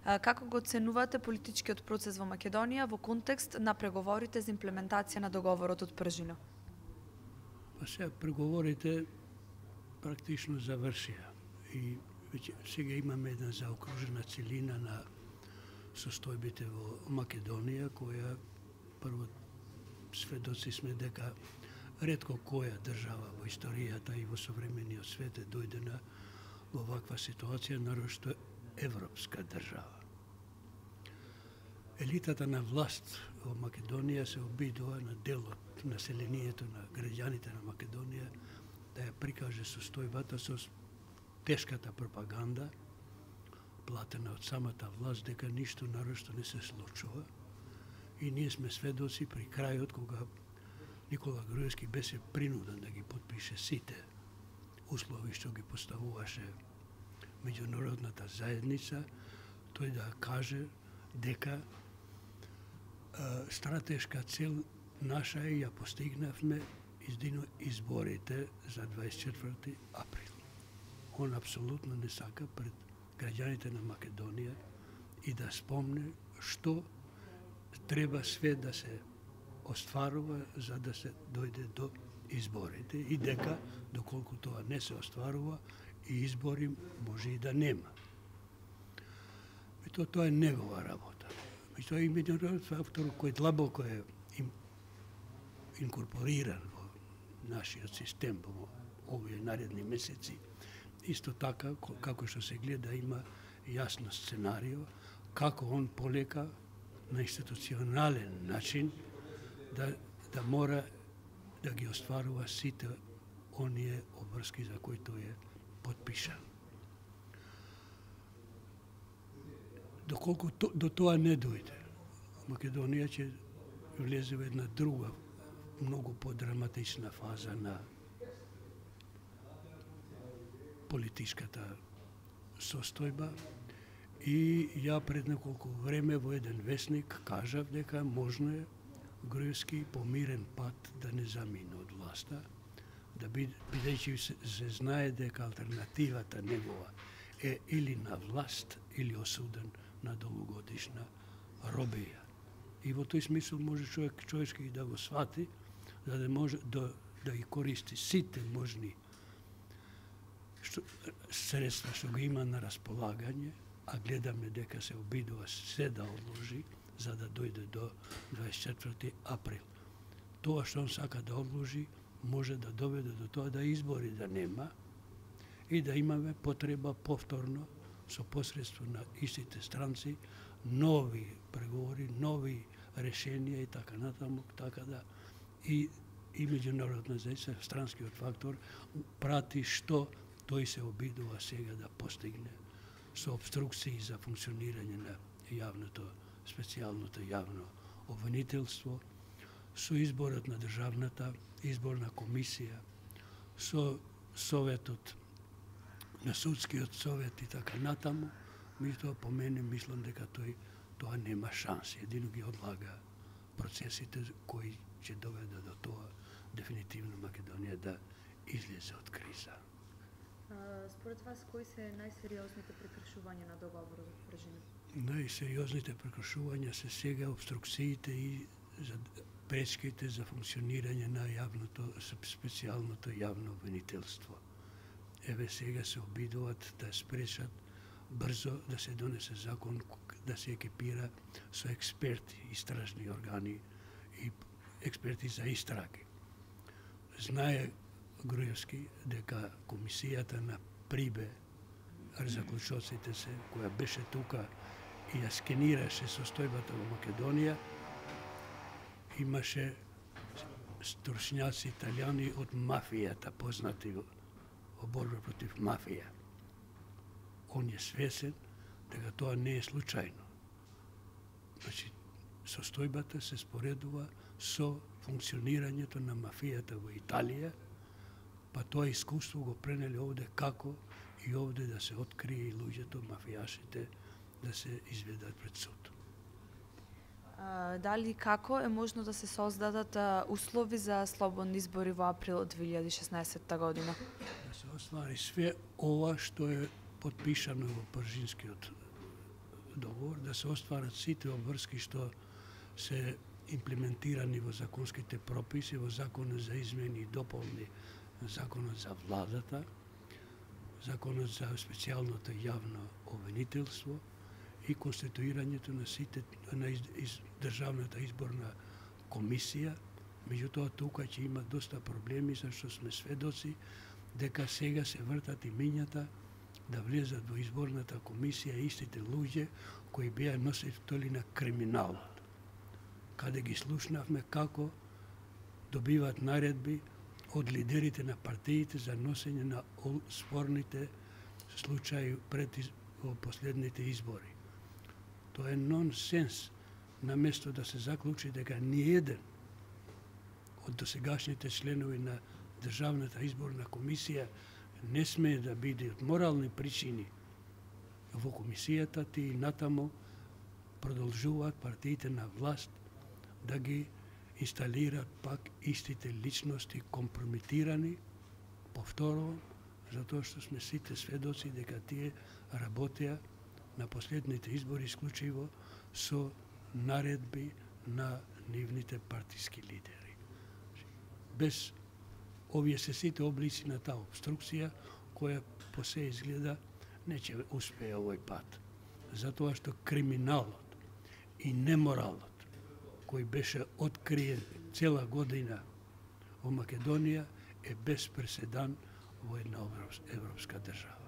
Како го оценувате политичкиот процес во Македонија во контекст на преговорите за имплементација на договорот од Пржино? Па сега преговорите практично завршија и сега имаме една заокружена целина на состојбите во Македонија, која прво сведоци сме дека ретко која држава во историјата и во современиот свет е дојдена во ваква ситуација, нарошто европска држава. Елитата на власт во Македонија се обидува на дел од населението, на граѓаните на Македонија, да ја прикаже состојбата со тешката пропаганда, платена од самата власт, дека ништо нарошто не се случува. И ние сме сведоци при крајот, кога Никола Груевски беше принуден да ги подпише сите услови што ги поставуваше меѓународната заедница, тој да каже дека стратешка цел наша е ја постигнавме изборите за 24 април. Он апсолутно не сака пред граѓаните на Македонија и да спомне што треба све да се остварува за да се дојде до изборите и дека, доколку тоа не се остварува, и избори може и да нема. Тоа е негова работа. Тоа е меѓународен фактор кој длабоко е инкорпориран во нашиот систем во овие наредни месеци. Исто така, како што се гледа, има јасно сценарио, како он полека на институционален начин да мора да ги остварува сите оние обврски за кои тој е подпишан. Доколку до тоа не дојде, Македонија ќе влезе во една друга, многу подраматична фаза на политичката состојба и ја пред неколку време во еден весник кажав дека можно е Груевски по мирен пат да не замине од власта, да бидејќи се знае дека алтернативата негова е или на власт или осуден на долгогодишна робија. И во тој смисол може човечки да го свати, за да може да ги користи сите можни средства што го има на располагање, а гледаме дека се обидува се да одложи за да дојде до 24 април. Тоа што он сака да одложи може да доведе до тоа да избори да нема и да имаме потреба повторно со посредство на истите странци нови преговори, нови решенија и така натаму, така да и меѓународна заедница, странскиот фактор прати што тој се обидува сега да постигне со обструкции за функционирање на јавното, специјалното јавно обвинителство, со изборот на државната изборна комисија, со советот на судскиот совет и така натаму, меѓутоа по мене мислам дека тоа нема шанси, едино ги одлага процесите кои ќе доведат до тоа дефинитивно Македонија да излезе од криза. Според вас, кои се најсериозните прекршувања на договорот од Пржино? Најсериозните прекршувања се сега обструкциите и пречките за функционирање на јавното, специјалното јавно обвинителство. Еве сега се обидуваат да спречат брзо да се донесе закон, да се екипира со експерти, истражни органи и експерти за истраги. Знае Груевски дека комисијата на Прибе, заклучоците се, која беше тука и ја скенираше состојбата во Македонија, имаше стручњаци италијани од мафијата, познати во борба против мафија. Он е свесен дека тоа не е случајно. Значи, состојбата се споредува со функционирањето на мафијата во Италија, па тоа искуство го пренели овде како и овде да се открие и луѓето, мафијашите, да се изведат пред суд. Дали како е можно да се создадат услови за слободни избори во април 2016 година? Да се оствари све ова што е подпишано во Пржинскиот договор да се остварат сите обврски што се имплементирани во законските прописи, во законот за измени и дополни законот за владата, законот за специјалното јавно обвинителство и конституирањето на сите на државната изборна комисија. Меѓутоа тука ќе има доста проблеми зашто сме сведоци дека сега се вртат и мињата да влезат во изборната комисија истите луѓе кои беа носители на криминалот. Каде ги слушнавме како добиваат наредби од лидерите на партиите за носење на спорните случаи во последните избори. Тоа е нонсенс. Наместо да се заклучи дека ниеден од досегашните членови на Државната изборна комисија не смее да биде од морални причини во комисијата, тие натаму продолжуваат партиите на власт да ги инсталираат пак истите личности компрометирани, повторувам, затоа што сме сите сведоци дека тие работеа на последните избори исклучиво со наредби на нивните партиски лидери. Без овие се сите облици на таа обструкција, која по се изгледа не ќе успее овој пат. Затоа што криминалот и неморалот кој беше откриен цела година во Македонија е без преседан во една европска држава.